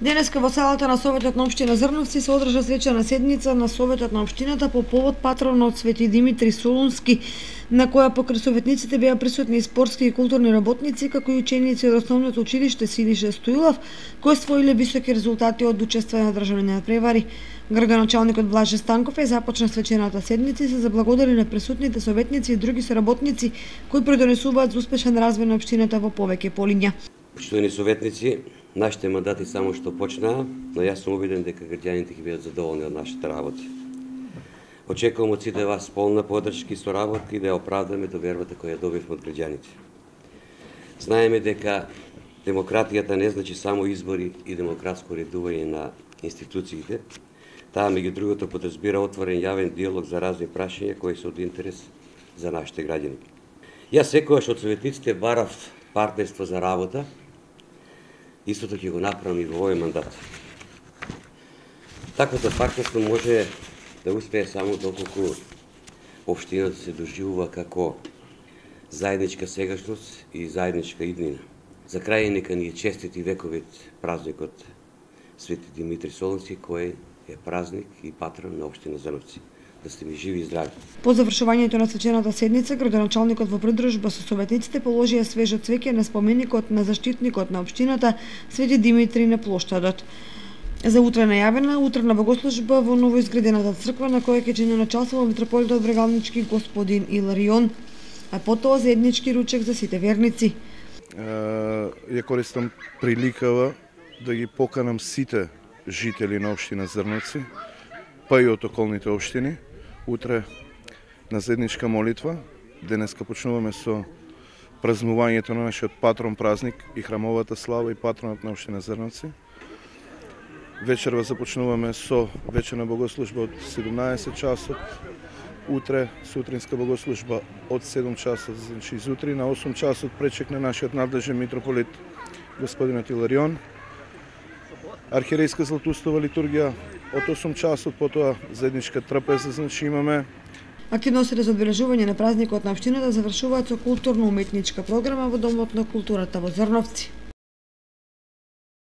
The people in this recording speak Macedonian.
Денеска во салата на Советот на општина Зрновци се одржа свечена седница на Советот на општината по повод патронот Свети Димитри Солунски, на која покрај советниците беа присутни и спортски и културни работници, како и ученици од основното училиште Силише Стоилов, кои освоиле високи резултати од учествување на државни надпревари. Градоначалникот Блаже Станков започна свечената седница и се заблагодари на присутните советници и други соработници кои придонесуваат за успешен развој на општината во повеќе полиња. Почитувани советници, нашите мандати само што почнаа, но јас сум убеден дека граѓаните ќе бидат задоволни од нашите работи. Очекувам од сите вас полна поддршка и соработка и да ја оправдаме довербата која ја добивме од граѓаните. Знаеме дека демократијата не значи само избори и демократско редување на институциите. Таа меѓу другото подразбира отворен јавен диалог за разни прашања кои се од интерес за нашите граѓани. Јас секогаш од советниците барав партнерство за работа. Истото ќе го направам и во овој мандат. Таквото партнерство може да успее само доколку општината се доживува како заедничка сегашност и заедничка иднина. За крај нека ни е честит и вековит празникот Свети Димитри Солунски, кој е празник и патрон на општина Зрновци. Да сте ми живи и здрави. По завршувањето на свечената седница, градоначалникот во придружба со советниците положија свежо цвеќе на споменикот на заштитникот на општината Свети Димитри на плоштадот. За утре најавена утрена богослужба во новоизградената црква на која ќе чиноначалствува митрополитот Брегалнички господин Иларион, а потоа заеднички ручек за сите верници. Ја користам приликава да ги поканам сите жители на општина Зрновци, па и од околните општини, утре на заедничка молитва. Денеска почнуваме со празнувањето на нашиот патрон празник и храмовата слава и патронот на општина Зрновци. Вечерва започнуваме со вечерна богослужба од 17 часот. Утре сутринска богослужба од 7 часот, значи изутри на 8 часот пречекне нашиот надлежен митрополит господинот Иларион. Архиерейска златоустова литургија од 8 часот, потоа заедничка трапеза, значи имаме. Активностите за одбележување на празникот на општината завршуваат со културно-уметничка програма во Домот на културата во Зрновци.